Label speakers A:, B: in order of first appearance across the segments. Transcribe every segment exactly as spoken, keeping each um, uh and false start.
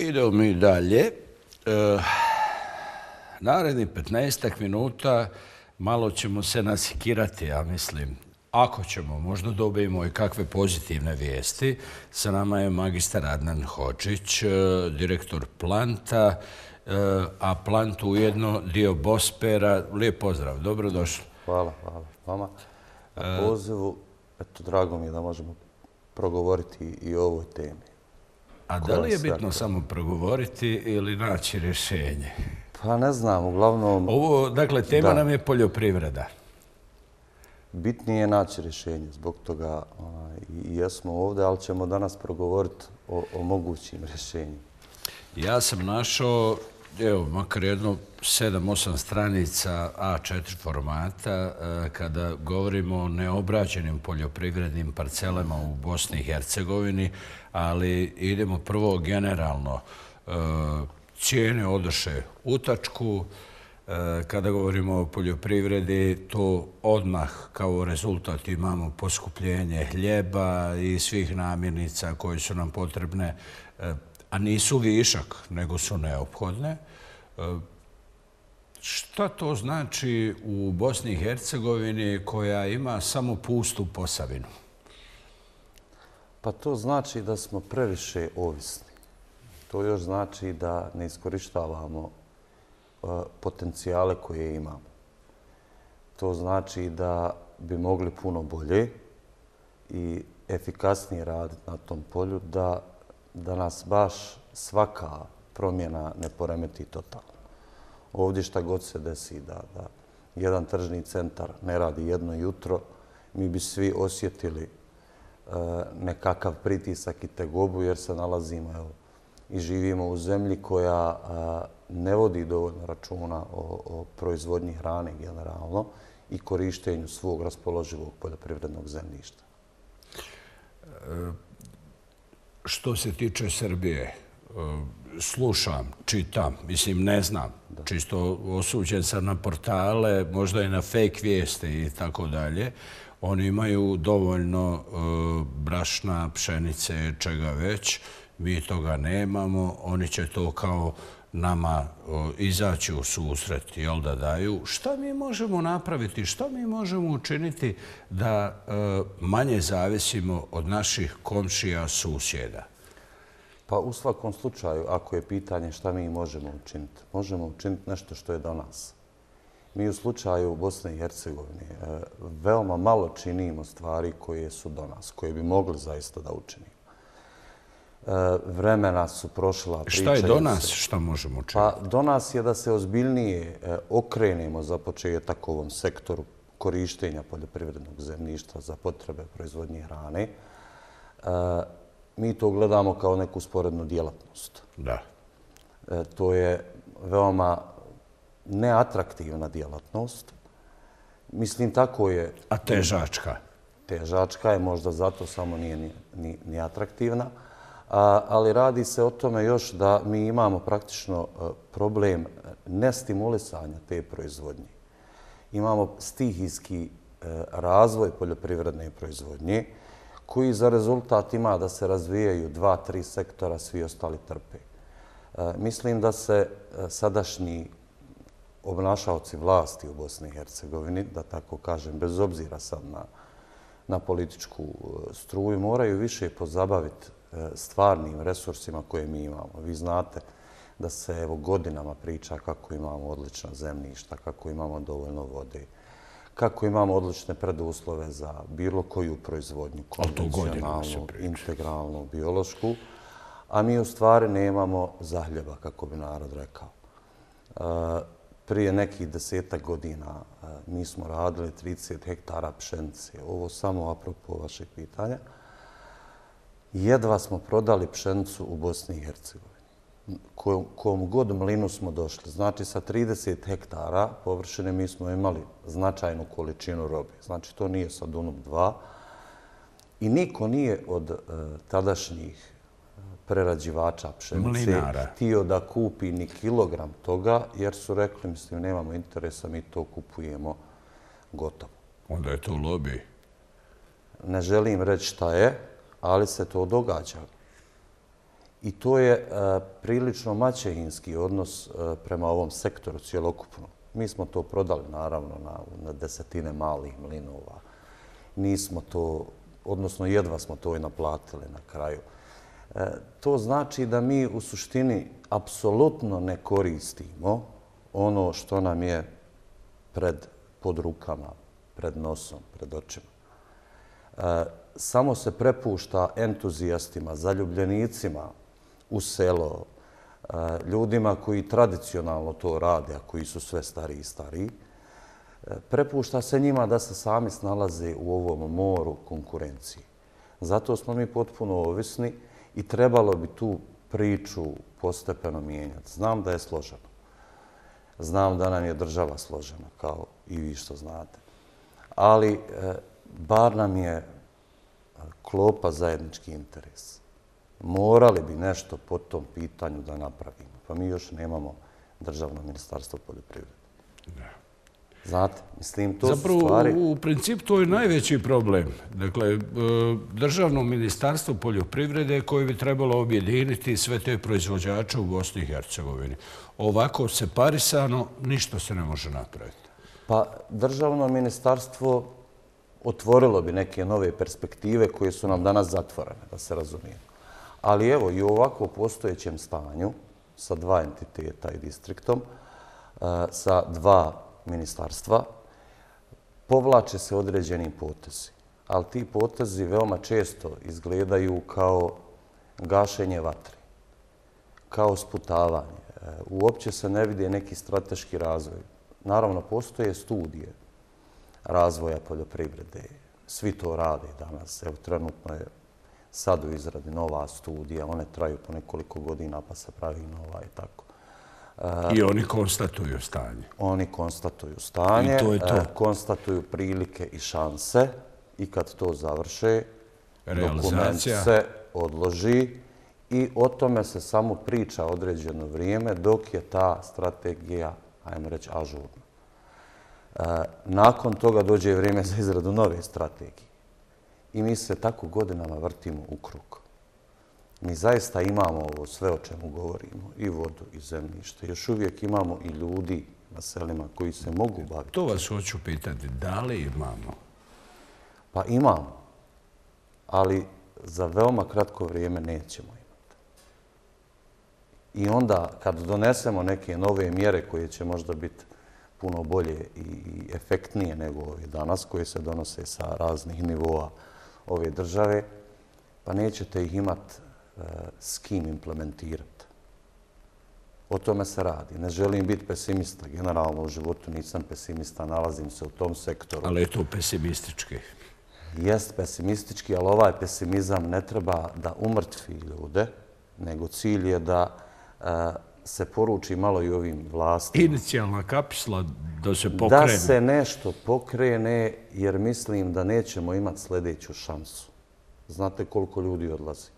A: Idemo mi dalje. E, narednih petnaestak minuta malo ćemo se nasikirati, ja mislim. Ako ćemo, možda dobijemo i kakve pozitivne vijesti. Sa nama je magistar Adnan Hodžić, direktor Planta, a Plant ujedno dio Bospera. Lijep pozdrav, dobrodošli.
B: Hvala, hvala vama na pozivu. Eto, drago mi je da možemo progovoriti i o ovoj temi.
A: A da li je bitno samo progovoriti ili naći rješenje?
B: Pa ne znam, uglavnom...
A: Ovo, dakle, tema nam je poljoprivreda.
B: Bitnije je naći rješenje, zbog toga i jesmo ovdje, ali ćemo danas progovoriti o mogućim rješenjima.
A: Ja sam našao, evo, makar jedno sedam osam stranica A četiri formata kada govorimo o neobrađenim poljoprivrednim parcelama u Bosni i Hercegovini, ali idemo prvo generalno. Cijene odoše u tačku. Kada govorimo o poljoprivredi, to odmah kao rezultat imamo poskupljenje hljeba i svih namirnica koje su nam potrebne, a nisu višak, nego su neophodne. Šta to znači u Bosni i Hercegovini koja ima samo pustu Posavinu?
B: Pa to znači da smo previše ovisni. To još znači da ne iskorištavamo potencijale koje imamo. To znači da bi mogli puno bolje i efikasnije raditi na tom polju, da, da nas baš svaka promjena ne poremeti totalno. Ovdje šta god se desi, da, da jedan tržni centar ne radi jedno jutro, mi bi svi osjetili e, nekakav pritisak i tegobu jer se nalazimo evo, i živimo u zemlji koja e, ne vodi dovoljno računa o, o proizvodnji hrane generalno i korištenju svog raspoloživog poljoprivrednog zemljišta.
A: E, što se tiče Srbije, slušam, čitam, mislim ne znam, da. Čisto osuđen sam na portale, možda i na fake vijeste i tako dalje. Oni imaju dovoljno uh, brašna, pšenice, čega već. Mi toga nemamo. Oni će to kao nama uh, izaći u susret, jel da daju. Šta mi možemo napraviti? Šta mi možemo učiniti da uh, manje zavisimo od naših komšija, susjeda?
B: Pa u svakom slučaju, ako je pitanje šta mi možemo učiniti, možemo učiniti nešto što je do nas. Mi u slučaju Bosne i Hercegovine veoma malo činimo stvari koje su do nas, koje bi mogli zaista da učinimo. Vremena su prošla.
A: Šta je do nas? Šta možemo učiniti?
B: Pa do nas je da se ozbiljnije okrenemo za početak ovom sektoru korištenja poljoprivrednog zemljišta za potrebe proizvodnje hrane. Mi to gledamo kao neku sporednu djelatnost.
A: Da.
B: E, to je veoma neatraktivna djelatnost. Mislim, tako je...
A: A težačka?
B: Težačka je, možda zato samo nije ni, ni, ni atraktivna. A, ali radi se o tome još da mi imamo praktično problem nestimulisanja te proizvodnje. Imamo stihijski razvoj poljoprivredne proizvodnje, koji za rezultat ima da se razvijaju dva, tri sektora, svi ostali trpe. E, mislim da se sadašnji obnašaoci vlasti u Bosni i Hercegovini, da tako kažem, bez obzira sad na, na političku struju, moraju više pozabaviti stvarnim resursima koje mi imamo. Vi znate da se evo godinama priča kako imamo odlična zemljišta, kako imamo dovoljno vode, kako imamo odlične preduslove za bilo koju proizvodnju, konvencionalnu, integralnu, biološku, a mi u stvari nemamo zahljeba, kako bi narod rekao. Prije nekih desetak godina mi smo radili trideset hektara pšenice. Ovo samo apropo vašeg pitanja. Jedva smo prodali pšenicu u Bosni i Hercegovini. Kom god mlinu smo došli. Znači, sa trideset hektara površine mi smo imali značajnu količinu robe. Znači, to nije sad Dunav dva. I niko nije od uh, tadašnjih prerađivača pšenice
A: Mlinara.
B: htio da kupi ni kilogram toga, jer su rekli, mislim, nemamo interesa, mi to kupujemo gotovo.
A: Onda je to lobby.
B: Ne želim reći šta je, ali se to događa. I to je prilično maćehinski odnos prema ovom sektoru cjelokupno. Mi smo to prodali, naravno, na desetine malih mlinova. Nismo to, odnosno jedva smo to i naplatili na kraju. To znači da mi u suštini apsolutno ne koristimo ono što nam je pred, pod rukama, pred nosom, pred očima. Samo se prepušta entuzijastima, zaljubljenicima u selo, ljudima koji tradicionalno to rade, a koji su sve stariji i stariji. Prepušta se njima da se sami snalaze u ovom moru konkurencije. Zato smo mi potpuno ovisni i trebalo bi tu priču postepeno mijenjati. Znam da je složeno. Znam da nam je država složena, kao i vi što znate. Ali bar nam je klopa zajednički interes. Morali bi nešto po tom pitanju da napravimo. Pa mi još nemamo državno ministarstvo poljoprivrede. Znate, mislim, to su stvari...
A: Zapravo, u principu, to je najveći problem. Dakle, državno ministarstvo poljoprivrede koje bi trebalo objediniti sve te proizvođače u Bosni i Hercegovini. Ovako separisano ništa se ne može napraviti.
B: Pa državno ministarstvo otvorilo bi neke nove perspektive koje su nam danas zatvorene, da se razumije. Ali evo, i u ovako postojećem stanju, sa dva entiteta i distriktom, sa dva ministarstva, povlače se određeni potezi. Ali ti potezi veoma često izgledaju kao gašenje vatre, kao sputavanje. Uopće se ne vidi neki strateški razvoj. Naravno, postoje studije razvoja poljoprivrede. Svi to rade danas. Evo, trenutno je sad u izradi nova studija. One traju po nekoliko godina pa se pravi nova i tako.
A: I oni konstatuju stanje.
B: Oni konstatuju stanje,
A: I to je to.
B: konstatuju prilike i šanse i kad to završe, dokument
A: Realizacija.
B: se odloži i o tome se samo priča određeno vrijeme dok je ta strategija, ajmo reći, ažurna. Nakon toga dođe vrijeme za izradu nove strategije. I mi se tako godinama vrtimo u krug. Mi zaista imamo ovo sve o čemu govorimo, i vodu, i zemljište. Još uvijek imamo i ljudi na selima koji se mogu baviti.
A: To vas hoću pitati, da li imamo?
B: Pa imamo, ali za veoma kratko vrijeme nećemo imati. I onda kad donesemo neke nove mjere koje će možda biti puno bolje i efektnije nego ove danas, koje se donose sa raznih nivoa ove države, pa nećete ih imati s kim implementirati. O tome se radi. Ne želim biti pesimista. Generalno u životu nisam pesimista, nalazim se u tom sektoru.
A: Ali je to pesimistički.
B: Jest pesimistički, ali ovaj pesimizam ne treba da umrtvi ljude, nego cilj je da se poruči malo i ovim vlastima.
A: Inicijalna kapisla da se pokrene.
B: Da se nešto pokrene, jer mislim da nećemo imati sljedeću šansu. Znate koliko ljudi odlazi?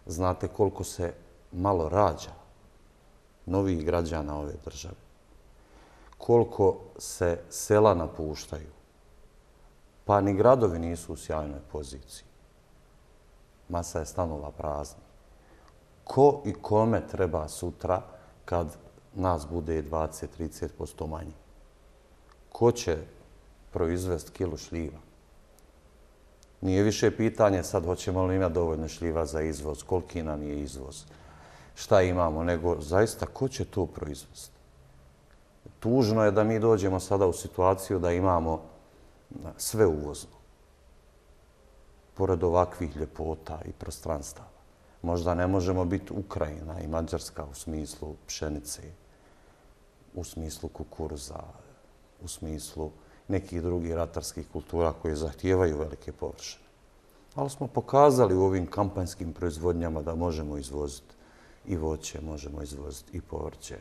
B: Znate koliko se malo rađa novih građana ove države? Koliko se sela napuštaju? Pa ni gradovi nisu u sjajnoj poziciji. Masa je stanova prazna. Ko i kome treba sutra kad nas bude dvadeset do trideset posto manje? Ko će proizvesti kilu šljiva? Nije više pitanje sad hoćemo li imati dovoljno šljiva za izvoz, koliki nam je izvoz, šta imamo, nego zaista ko će to proizvesti? Tužno je da mi dođemo sada u situaciju da imamo sve uvozno, pored ovakvih ljepota i prostranstava. Možda ne možemo biti Ukrajina i Mađarska u smislu pšenice, u smislu kukuruza, u smislu nekih drugih ratarskih kultura koje zahtijevaju velike površine. Ali smo pokazali u ovim kampanjskim proizvodnjama da možemo izvoziti i voće, možemo izvoziti i povrće,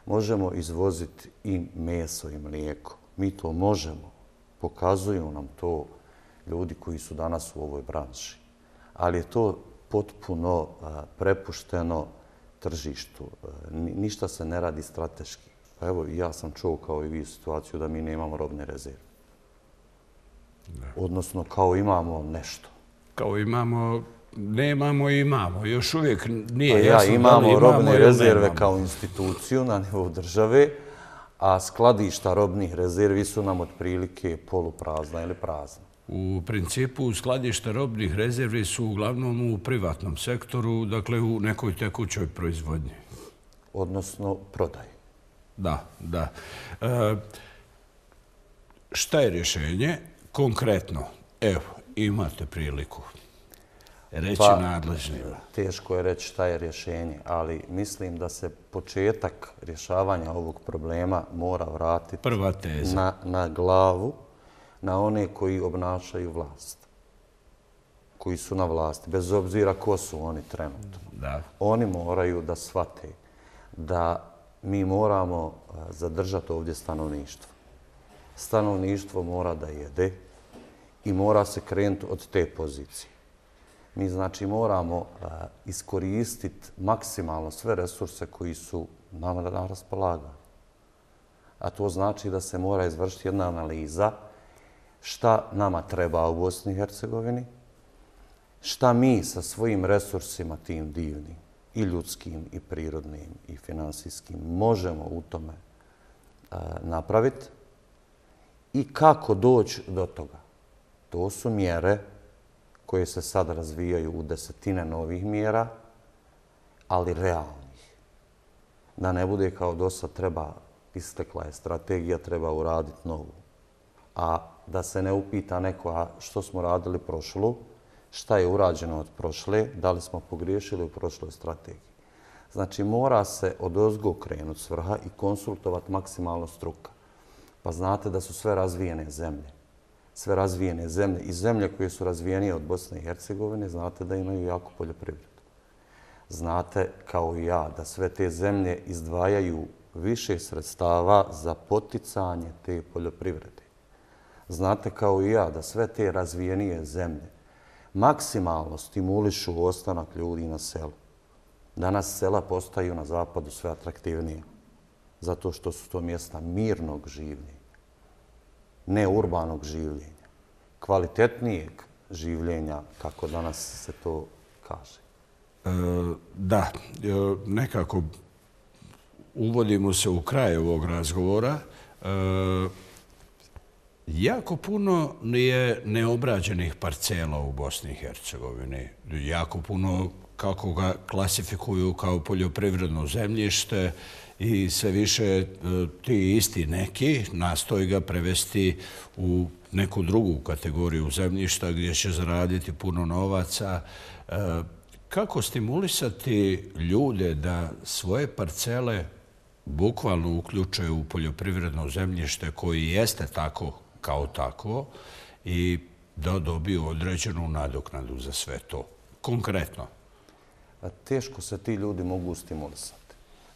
B: možemo izvoziti i meso i mlijeko. Mi to možemo. Pokazuju nam to ljudi koji su danas u ovoj branši. Ali je to potpuno prepušteno tržištu. Ništa se ne radi strateški. Pa evo, ja sam čuo kao i vi situaciju da mi nemamo robne rezerve. Odnosno, kao imamo nešto.
A: Kao imamo nemamo i imamo. Još uvijek nije
B: ja,
A: jasno
B: imamo
A: da li imamo
B: robne rezerve
A: nemamo.
B: kao instituciju na nivou države, a skladišta robnih rezervi su nam otprilike poluprazna ili prazna.
A: U principu skladišta robnih rezervi su uglavnom u privatnom sektoru, dakle u nekoj tekućoj proizvodnji.
B: Odnosno prodaji.
A: Da, da. E, šta je rješenje? Konkretno, evo, imate priliku reći
B: Pa,
A: nadležnima.
B: Teško je reći šta je rješenje, ali mislim da se početak rješavanja ovog problema mora vratiti
A: Prva teza.
B: na, na glavu, na one koji obnašaju vlast, koji su na vlasti, bez obzira ko su oni trenutno.
A: Da.
B: Oni moraju da shvate da mi moramo zadržati ovdje stanovništvo. Stanovništvo mora da jede i mora se krenuti od te pozicije. Mi znači moramo iskoristiti maksimalno sve resurse koji su nama na raspolaganju. A to znači da se mora izvršiti jedna analiza šta nama treba u Bosni i Hercegovini, šta mi sa svojim resursima tim divnim, i ljudskim, i prirodnim, i finansijskim, možemo u tome napraviti i kako doći do toga. To su mjere koje se sad razvijaju u desetine novih mjera, ali realnih. Da ne bude kao do sad treba, istekla je strategija, treba uraditi novu. A da se ne upita neko a što smo radili prošlu, šta je urađeno od prošle, da li smo pogriješili u prošloj strategiji. Znači, mora se odozgo krenuti s vrha i konsultovati maksimalno struka. Pa znate da su sve razvijene zemlje. Sve razvijene zemlje i zemlje koje su razvijenije od Bosne i Hercegovine, znate da imaju jako poljoprivredu. Znate, kao i ja, da sve te zemlje izdvajaju više sredstava za poticanje te poljoprivrede. Znate, kao i ja, da sve te razvijenije zemlje maksimalno stimulišu ostanak ljudi na selu. Danas sela postaju na zapadu sve atraktivnije, zato što su to mjesta mirnog življenja, ne urbanog življenja, kvalitetnijeg življenja, kako danas se to kaže.
A: E, da, e, nekako uvodimo se u kraj ovog razgovora. E, jako puno je neobrađenih parcela u Bosni i Hercegovini. Jako puno, kako ga klasifikuju kao poljoprivredno zemljište, i sve više ti isti neki nastoji ga prevesti u neku drugu kategoriju zemljišta gdje će zaraditi puno novaca. Kako stimulisati ljude da svoje parcele bukvalno uključuju u poljoprivredno zemljište koji jeste tako kao takvo i da dobiju određenu nadoknadu za sve to? Konkretno.
B: Teško se ti ljudi mogu stimulisati.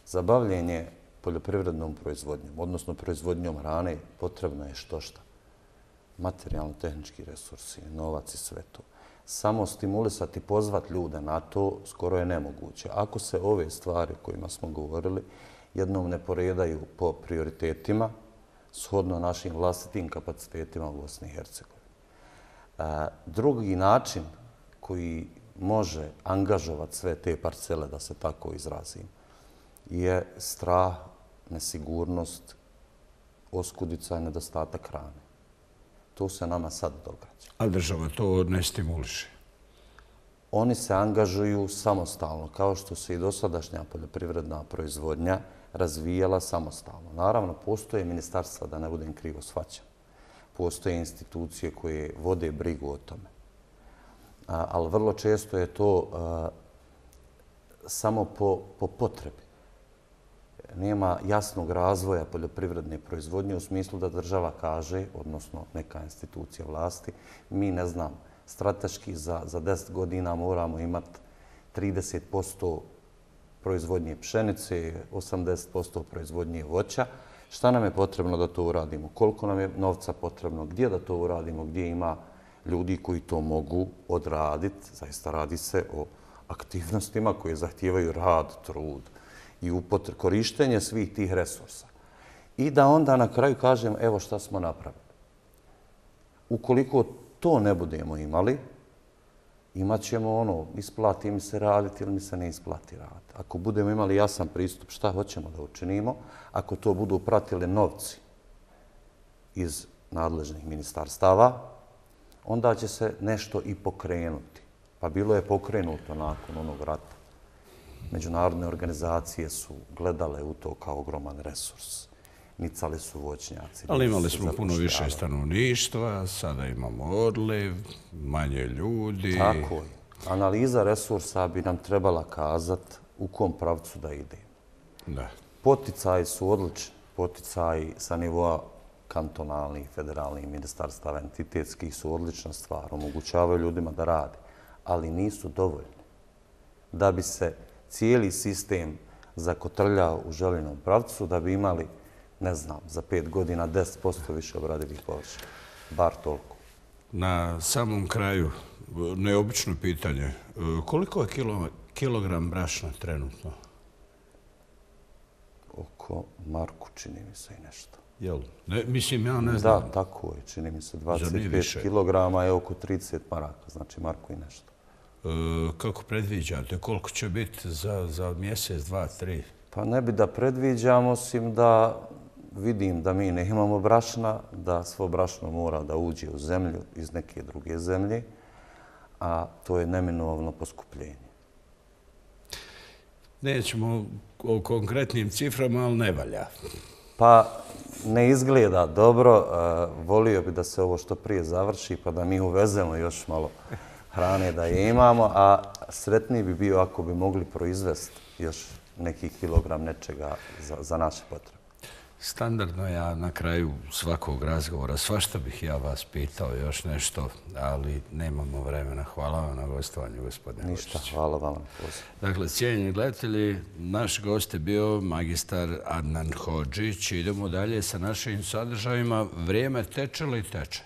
B: Za bavljenje poljoprivrednom proizvodnjom, odnosno proizvodnjom hrane, potrebno je što šta. Materijalno-tehnički resursi, novac i sve to. Samo stimulisati, pozvati ljude na to skoro je nemoguće. Ako se ove stvari kojima smo govorili jednom ne poredaju po prioritetima, shodno našim vlastitim kapacitetima u Bosni i Hercegovini. Drugi način koji može angažovati sve te parcele, da se tako izrazim, je strah, nesigurnost, oskudica i nedostatak hrane. To se nama sad događa.
A: A država to ne stimuliše?
B: Oni se angažuju samostalno, kao što se i dosadašnja poljoprivredna proizvodnja razvijala samostalno. Naravno, postoje ministarstva, da ne budem krivo shvaćan. Postoje institucije koje vode brigu o tome. Ali vrlo često je to samo po, po potrebi. Nema jasnog razvoja poljoprivredne proizvodnje u smislu da država kaže, odnosno neka institucija vlasti, mi ne znam, strateški za, za deset godina moramo imati trideset posto proizvodnje pšenice, osamdeset posto proizvodnje voća. Šta nam je potrebno da to uradimo? Koliko nam je novca potrebno? Gdje da to uradimo? Gdje ima ljudi koji to mogu odraditi? Zaista radi se o aktivnostima koje zahtijevaju rad, trud i korištenje svih tih resursa. I da onda na kraju kažem, evo šta smo napravili. Ukoliko to ne budemo imali, imat ćemo ono, isplati mi se raditi ili mi se ne isplati raditi. Ako budemo imali jasan pristup šta hoćemo da učinimo, ako to budu pratili novci iz nadležnih ministarstava, onda će se nešto i pokrenuti. Pa bilo je pokrenuto nakon onog rata. Međunarodne organizacije su gledale u to kao ogroman resurs. Nicali su voćnjaci.
A: Ali imali smo puno više stanovništva, sada imamo odliv, manje ljudi.
B: Tako je. Analiza resursa bi nam trebala kazati u kom pravcu da ide.
A: Da.
B: Poticaji su odlični. Poticaji sa nivoa kantonalnih, federalnih ministarstava, entitetskih su odlična stvar. Omogućavaju ljudima da rade, ali nisu dovoljni. Da bi se cijeli sistem zakotrljao u željenom pravcu, da bi imali, ne znam, za pet godina deset posto više obradivih površina. Bar toliko.
A: Na samom kraju, neobično pitanje. Koliko je kilogram brašna trenutno?
B: Oko Marku, čini mi se i nešto.
A: Jel? Ne, mislim, ja ne znam.
B: Da, tako je. Čini mi se dvadeset pet kilograma je oko trideset maraka. Znači Marku i nešto.
A: E, kako predviđate? Koliko će biti za, za mjesec, dva, tri?
B: Pa ne bi da predviđam, osim da vidim da mi ne imamo brašna, da svo brašno mora da uđe u zemlju iz neke druge zemlje, a to je neminovno poskupljenje.
A: Nećemo o konkretnim ciframa, ali ne valja.
B: Pa ne izgleda dobro. Volio bi da se ovo što prije završi, pa da mi uvezemo još malo hrane da je imamo, a sretniji bi bio ako bi mogli proizvesti još neki kilogram nečega za, za naše potrebe.
A: Standardno ja na kraju svakog razgovora, svašta bih ja vas pitao još nešto, ali nemamo vremena. Hvala vam na gostovanju, gospodine Vučić.
B: Ništa, hvala vam.
A: Dakle, cijenjeni gledatelji, naš gost je bio magistar Adnan Hodžić. Idemo dalje sa našim sadržajima. Vrijeme teče li teče?